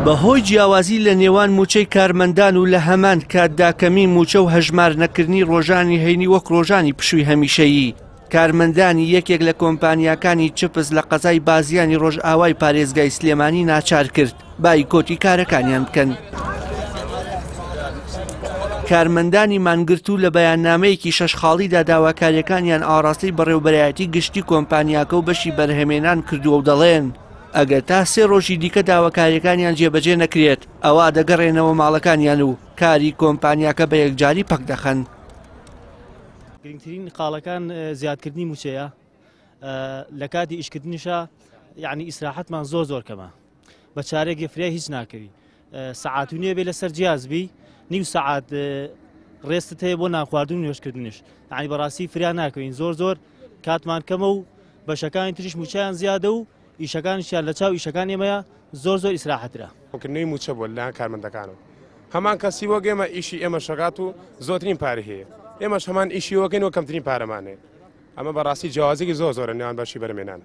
بەهۆی جیاوازی لە نێوان مووچەی کارمەندان و لە هەمان کاتدا کەمی مووچە و هەژمار نەکردنی ڕۆژانی هەینی وەک ڕۆژانی پشووی هەمیشەیی، کارمەندانی یەکێک لە کۆمپانیاکانی چپس لە قەزای بازیانی ڕۆژئاوای پارێزگای سلێمانی ناچار کرد بایکۆتی کارەکانیان بکەن. کارمەندانی مانگرتوو لە بەیاننامەیەکی شەش خاڵیدا داواکارییەکانیان ئاڕاستەی بەڕێوبەرایەتی گشتی کۆمپانیاکە و بەشی بەرهەمێنان کردووە و دەڵێن، ئەگەر تا سێ ڕۆژی دیکە داواکارییەکانیان جێبەجێ نەکرێت، ئەوا دەگەڕێنەوە ماڵەکانیان و کاری کۆمپانیاکە بە یەکجاری پەک دەخەن. گرنگترین خاڵەکان زیادکردنی مووچەیە، لە کاتی ئیشکردنیشا یعنی ئیسراحەتمان زۆر زۆر کەمە، بە چارێکی فریای هیچ ناکەوی، سەعات و نییە بێ لەسەر جیاز بی، نیو سەعات ڕێستت هەیە بۆ نانخواردن و نوێژکردنیش، یعنی بەڕاستی فریا ناکەوین، زۆر زۆر کاتمان کەمە و بەشەکانی تریش مووچەیان زیادە و ئیشەکانیشیان لە چاو ئیشەکان ئێمەیە زۆر زۆر ئیسراحەترە. کردنەوەی مووچە بووە لەلایەن کارمەندەکانەوە، هەمان کەسی وەک ئێمە ئیشی ئێمە شەکات و زۆرترین پارەی هەیە، ئێمەش هەمان ئیشی وەکەین و کەمترین پارەمان هەیە. ئەمە بەڕاستی جیاوازیەکی زۆر زۆرە نێوان بەشی بەرهەمێنان.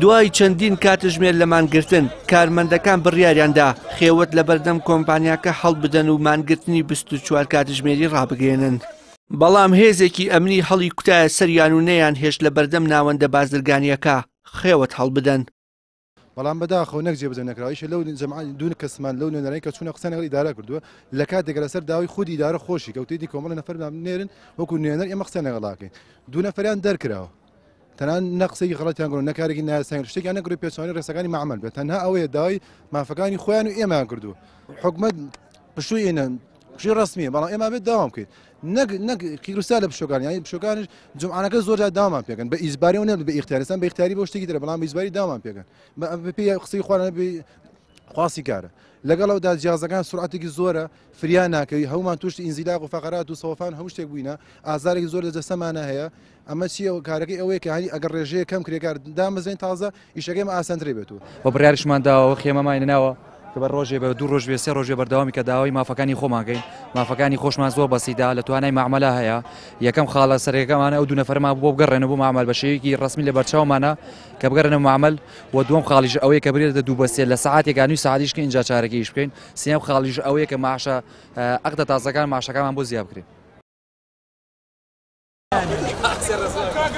دوای چەندین کاتژمێر لە مانگرتن، کارمەندەکان بڕیاریاندا خێوەت لەبەردەم کۆمپانیاکە هەڵبدەن و مانگرتنی 24 کاتژمێری ڕابگەیەنن. بەڵام هێزێکی ئەمنی هەڵی کوتایە سەریان و نەیانهێشت لەبەردەم ناوەندە بازرگانییەکە خێوەت هەڵبدەن. بەڵام بەداخەوە نەک جێبەجێ نەکراوە، ئیشە لەو جەماعە دوو کەسمان لەو نوێنەرانی کە چوونە قسەیان لەگەڵ ئیدارە کردووە، لە کاتێک لەسەر داوای خودی ئیدارە خۆشی کەوتێتی کۆمەڵە نەفەر نێرن وەکو نوێنەر ئێمە قسەیان لەگەڵ ئەکەین، دوو نەفەریان دەرکراوە، تەنانەت نە قسەیەکی غەڵەتیان کردووە نە کارێکی نایاساییان کردووە، شتێکیان نەکردووە پێچەوانەی ڕێساکانی مەعمەل بێت، تەنها ئەوەیە داوای مافەکانی خۆیان و ئێمەیان کردووە. حکومەت پشووی ئێنە پشووی ڕەسمیە، بەڵام ئێمە بێت داوام بکەین نەک نەک قیروسا لە پشوەکان، یانی پشوەکانیش جومعانەکە زۆر جار داوامان پێکەن بە ئیجباری و نەبێت بە ئیختیاری، ئێستا بە ئیختیاری بۆ شتێکی ترە، بەڵام بە ئیجباری داوامان پێکەن بە پێی قسەی خۆیان بە خواستی کارە. لەگەڵ ئەودا جیازەکان سرعەتێکی زۆرە، فریا ناکەوی، هەمومان تووشی ئینزیلاق و فەقەرات و سەوەفان هەموو شتێک بووینە، ئازارێکی زۆر لە جەستەمانە هەیە. ئەمە چییە؟ کارەکەی ئەوەیە کە هەنی ئەگەر ڕێژەیە کەم کرێکار دامەزرێن تازە ئیشەکەی ئێمە ئاسانترێ بێت و. وە بڕیاریشمان داوە خێمەمانی ناوە کە بە ڕۆژێ بە دوو ڕۆژ بێ سێ ڕۆژ بێ بەردەوامی کە داوای مافەکانی خۆمان کەین مافەکانی خۆشمان زۆر بەسیتە لە توانای مەعمەلە هەیە یەکەم خاڵە سەرەکەمانە ئەو دوو نەفەرمان بۆ بگەڕێنەوە بۆ مەعمەل بە شێوەیەکی ڕەسمی لە بەرچاومانە کە بگەڕێنەوە مەعمەل و دووەم خاڵیش ئەوەیە کە برێتە دوو بە سێ لە سەعاتێکا نیو سەعاتیش کە ئینجا چارەکە ئیش بکەین سێیەم خاڵیش ئەوەیە کە معاشە عەقدە تازەکان معاشەکانمان بۆ زیاد بکرێ.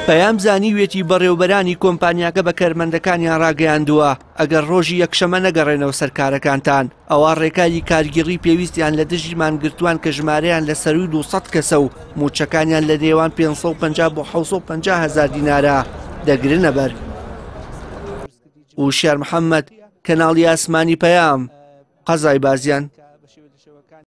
پەیام زانیویەتی بەڕێوبەرانی کۆمپانیاکە بە کەرمەندەکانیان ڕاگەیاندووە ئەگەر ڕۆژی یەکشەمە نەگەڕێنەوە سەر کارەکانتان ئەوا ڕێکاری کارگیڕی پێویستیان لە دژی مانگرتووان کە ژمارەیان لە سەرووی 200 کەسە و مووچەکانیان لە نێوان 550 بۆ 750 هەزار دینارە دەگرنە بەر. وشیار محەممەد، کەناڵی ئاسمانی پەیام، قەزای بازیان.